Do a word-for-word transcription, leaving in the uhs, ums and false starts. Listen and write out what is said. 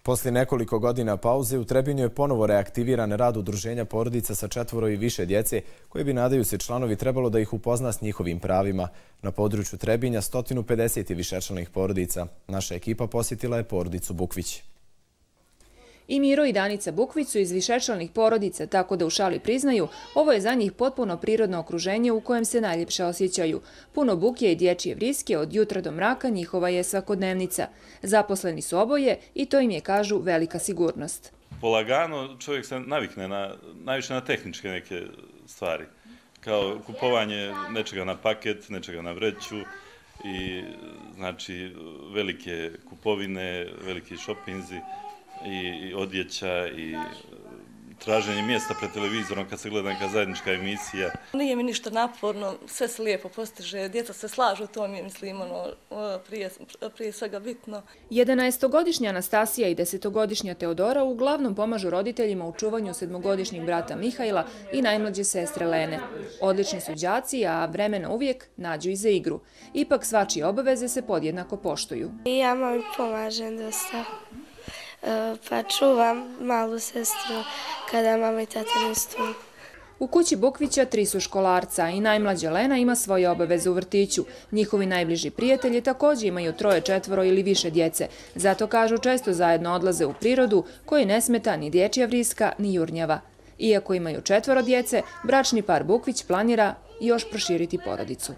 Poslije nekoliko godina pauze u Trebinju je ponovo reaktiviran rad udruženja porodica sa četvoro i više djece, koje bi, nadaju se članovi, trebalo da ih upozna s njihovim pravima. Na području Trebinja sto pedeset višečlanih porodica. Naša ekipa posjetila je porodicu Bukvić. I Miro i Danica Bukvić su iz višečlanih porodica, tako da u šali priznaju, ovo je za njih potpuno prirodno okruženje u kojem se najljepše osjećaju. Puno buke i dječje vriske od jutra do mraka njihova je svakodnevnica. Zaposleni su oboje i to im je, kažu, velika sigurnost. Polagano čovjek se navikne na, najviše na tehničke neke stvari, kao kupovanje nečega na paket, nečega na vreću i znači velike kupovine, veliki šopinzi i odjeća i traženje mjesta pred televizorom kad se gleda neka zajednička emisija. Nije mi ništa naporno, sve se lijepo postiže, djeca se slažu, to mi je, mislim, ono, prije, prije svega bitno. jedanaestogodišnja Anastasija i desetogodišnja Teodora uglavnom pomažu roditeljima u čuvanju sedmogodišnjeg brata Mihajla i najmlađe sestre Lene. Odlični su đaci, a vremena uvijek nađu i za igru. Ipak svačije obaveze se podjednako poštuju. Ja mami pomažem dosta. Pa čuvam malu sestru kada mama i tata nisu tu. U kući Bukvića tri su školarca i najmlađa Lena ima svoje obaveze u vrtiću. Njihovi najbliži prijatelji također imaju troje, četvoro ili više djece. Zato, kažu, često zajedno odlaze u prirodu, koji ne smeta ni dječja vriska ni jurnjava. Iako imaju četvoro djece, bračni par Bukvić planira još proširiti porodicu.